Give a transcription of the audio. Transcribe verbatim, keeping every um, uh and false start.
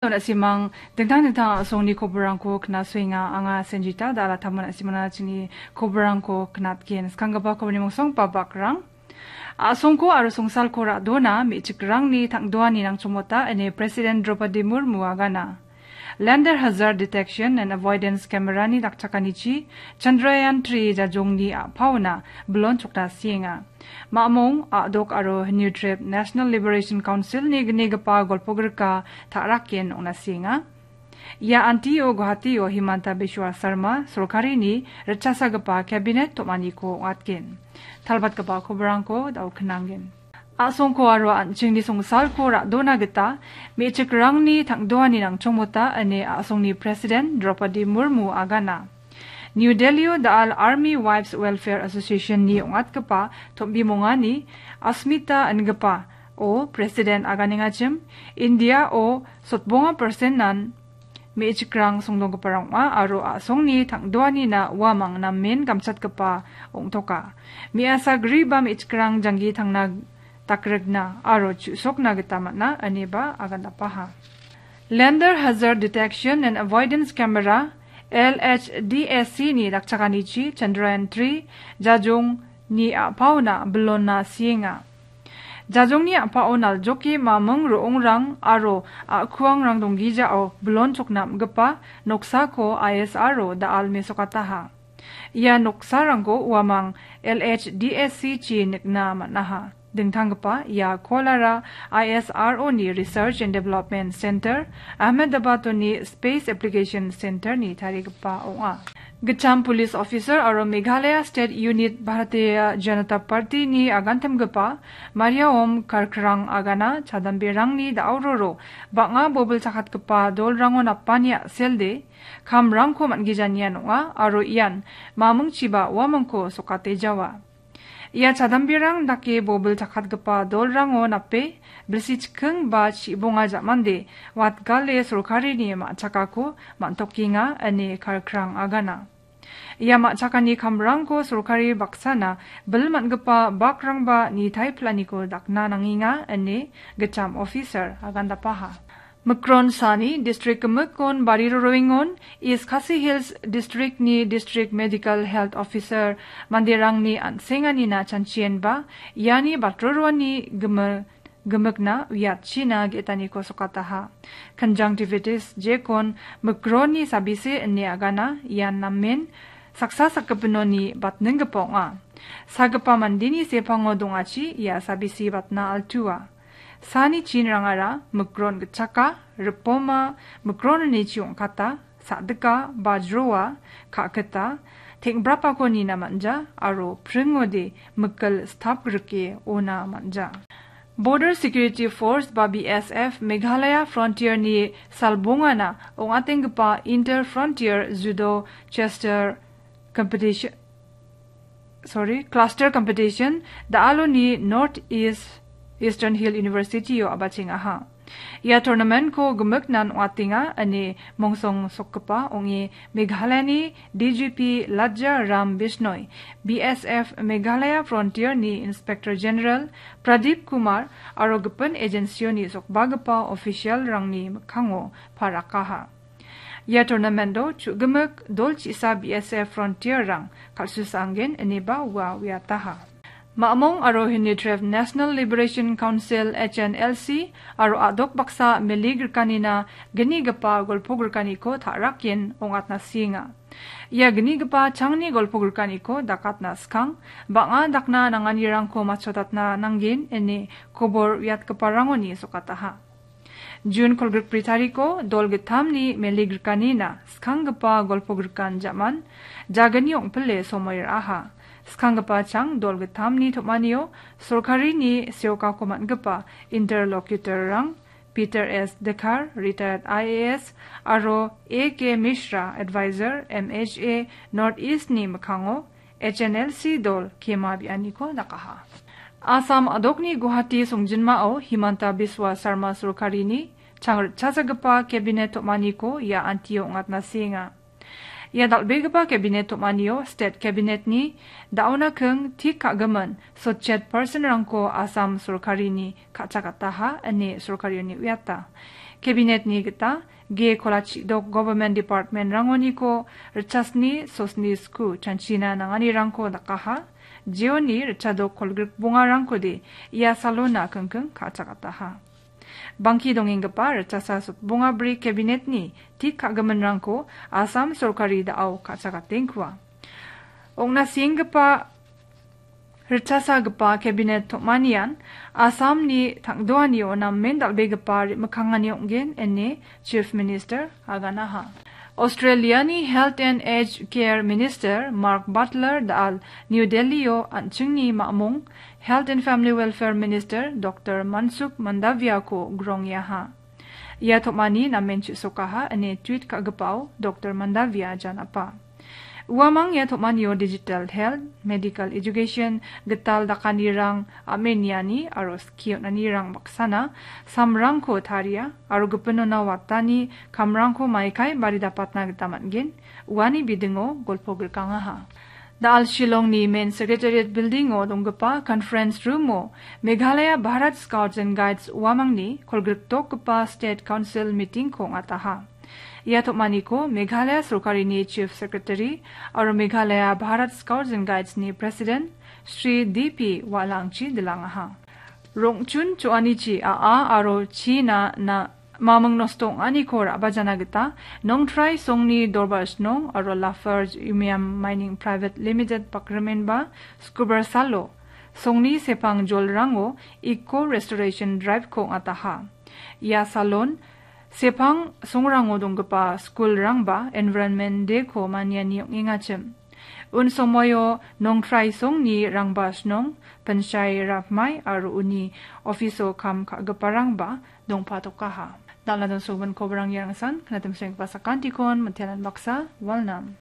Na·simang dingtang dingtang a·songni koborrangko knasuenga. Anga Senjita da·ala taman na·simana chini koborrangko knatgen. Skanggipa koborni mongsong babakrang. A·songko aro songsalko ra·dona me·chikrangni tang·doani nangchongmota ine President Draupadi Murmu agana. Lander Hazard Detection and Avoidance Camera-ni dakchakanichi Chandrayaan three jajongni a·paona bilon chokna sienga. Mamong, a·dok aro Hynniewtrep National Liberation Council-ni gnigipa golpogrika ta·raken ong·na sienga. Ia antio Guwahati-o Himanta Biswa Sarma sorkarini ritchasagipa cabinet tom·aniko ong·atgen. Talbatgipa koborrangko da·o knanggen. A·songko aro an·chingni songsalko ra·dona gita me·chikrangni tang·doani nangchongmota ine a·songni President Draupadi Murmu agana. New Delhi-o da·al Army Wives Welfare Association-ni ong·atgipa tom·bimongani Asmita ingipa o President aganengachim, India-o sotbonga persenan me·chikrang songdonggiparang ong·a aro a·songni tang·doanina uamang namen gamchatgipa ong·toka. Me·asa griba me·chikrang janggi tangna dakrikna aro chu·sokna gita man·a, ineba agandapaha. Lander Hazard Detection and Avoidance Camera, L H D S C-ni dakchakanichi Chandrayaan three jajongni a·paona bilonna sienga. Jajongni a·pao naljoke maming ro·ongrang aro a·kuangrang donggijao bilon chokna am·gipa noksako I S R-o da·al mesokataha. Ia noksarangko uamang L H D S C-chi nikna man·aha. Dingtanggipa ia kolara I S R O-ni Research and Development Center, Ahmedabad-oni Space Application Center-ni tarigipa ong·a. Gitcham police officer aro Meghalaya State Unit Bharatiya Janata Party-ni agantimgipa Mariam Karkrang agana chadamberangni da·aororo bang·a bobil chakatgipa dolrango napani a·selde kamrangko man·gijanian ong·a aro ian mamingchiba uamangko sokate jawa. Ia chadamberang dake bobil chakatgipa dolrango nape bilsi chikking ba chibonga ja·mande watgale sorkarini ma·chakako man·tokenga ine Karkrang agana. Ia ma·chakani kamrangko sorkari baksana bil man·gipa bakrangba nitai pilaniko dakna nangenga ine gitcham officer agandapaha. Mikron sani distrik gimikon bari roroengon East Khasi Hills distrikni distrik medical health officer manderangni an·senganina chanchienba iani batroroani gimil gimikna uiatchina ge·taniko sokataha. Conjunctivitis jekon mikronni sabise ine agana ian namen saksa sakgipinoni batninggipa ong·a. Sagipa mandeni sepango dongachi ia sabise batna altua. Sani chinrangara mikron gitchaka, ripoma, mikronnichi ong·kata, sa·dika, bajroa, ka·kita, teng·brapako nina man·ja aro pringode mikil stap grike ona man·ja. Border Security Force ba B S F Meghalaya Frontier-ni salbongana ong·atenggipa Inter Frontier Judo Chester Competition, sorry, Cluster Competition da·aloni North East Eastern Hill University-o a·bachengaha. Ia tournament-ko gimiknan ong·atenga ine mongsong sokgipa ong·e Meghalayani D G P Lajja Ram Bishnoi, B S F Meghalaya Frontier-ni Inspector General Pradeep Kumar aro gipin agency-oni sokbagipa official-rangni mikkango parakaha. Ia tournament-o chu·gimik dol chisa B S F Frontier-rang kal·susaangen ineba ua uiataha. Mamong aro Hynniewtrep National Liberation Council, H N L C, aro a·dok baksa mele grikanina gnigipa golpo grikaniko ta·raken ong·atna sienga. Ia gnigipa changni golpo grikaniko dakatna skang, bang·a dakna nanganirangko matchotatna nanggen ine kobor uiatgiparangoni sokataha. Jun kolgrikbri tariko dol gittamni mele grikanina skanggipa golpo grikan ja·man jagni ong·pile somoi ra·aha. Skanggipa chang dol gittamni tom·anio sorkarini seokako man·gipa interlocutor-rang Peter S Dkhar, retired I A S, aro A K Mishra, advisor, M H A, North East-ni mikkango H N L C dol kema bianiko dakaha. Assam a·dokni Guwahati songjinmao Himanta Biswa Sarma sorkarini changritchasagipa cabinet tom·aniko ia antio ong·atna sienga. Ia dal·begipa cabinet tom·anio state cabinet-ni da·ona king tik ka·gimin sotchet person-rangko Assam sorkarini ka·chakataha ine sorkarioni uiata. Cabinet-ni gita ge kolachidok government department-rangoniko ritchasni sosni sku chanchina nanganirangko dakaha, jeoni ritchadok kolgrik bongarangkode ia salona kingking ka·chakataha. Bangki dongenggipa ritchasa sotbonga bri cabinet-ni tik ka·giminrangko Assam sorkari da·ao ka·chakatengkua. Ong·na senggipa ritchasagipa cabinet tom·manian Assamni tangdoanio namen dal·begipa re·mikkangani ong·gen ine Chief Minister aganaha. Australiani Health and Aged Care Minister Mark Butler da·al New Delhio an·chingni mamung Health and Family Welfare Minister Doctor Mansukh Mandaviako grongiaha. Ia tom·ani namen chisokaha ine tweet ka·gipao Doctor Mandavia janapa. Uamang ia tom·anio digital health, medical education, gital dakanirang, am·e niani aro skie on·anirang baksana samrangko taria aro gipinona watani kamrangko maikai baridapatna gita man·gen, uani bidingo golpo grikangaha. Da·al Shillongni main secretariat building-o donggipa conference room-o Meghalaya Bharat Scouts and Guides uamangni kolgriktokgipa State Council meeting-ko ong·ataha. Ia tom·aniko Meghalaya sorkarini Chief Secretary aro Meghalaya Bharat Scouts and Guides-ni President Shri D P Walangchi dilangaha. Rongchun cho·anichi a·a aro china na mamung nosto ong·aniko ra·bajana gita Nongtrai Songni Dorbar Snong aro Lafarge Umiam Mining Private Limited bakrimenba Skubar Salo Songni sepang jolrango Eco Restoration Drive-ko ong·ataha. Ia salon sepang songrango donggipa skulrangba Environment Day-ko maniani ong·engachim. Un somoio Nongtrai Songni Rangba Snong, Pinshai Rapmai aro uni ofiso kam ka·giparangba dongpatokaha. Dal·na dongsogimin kobarang iarangsan, knatim senggipa sakantikon, mitenan baksa, walnam.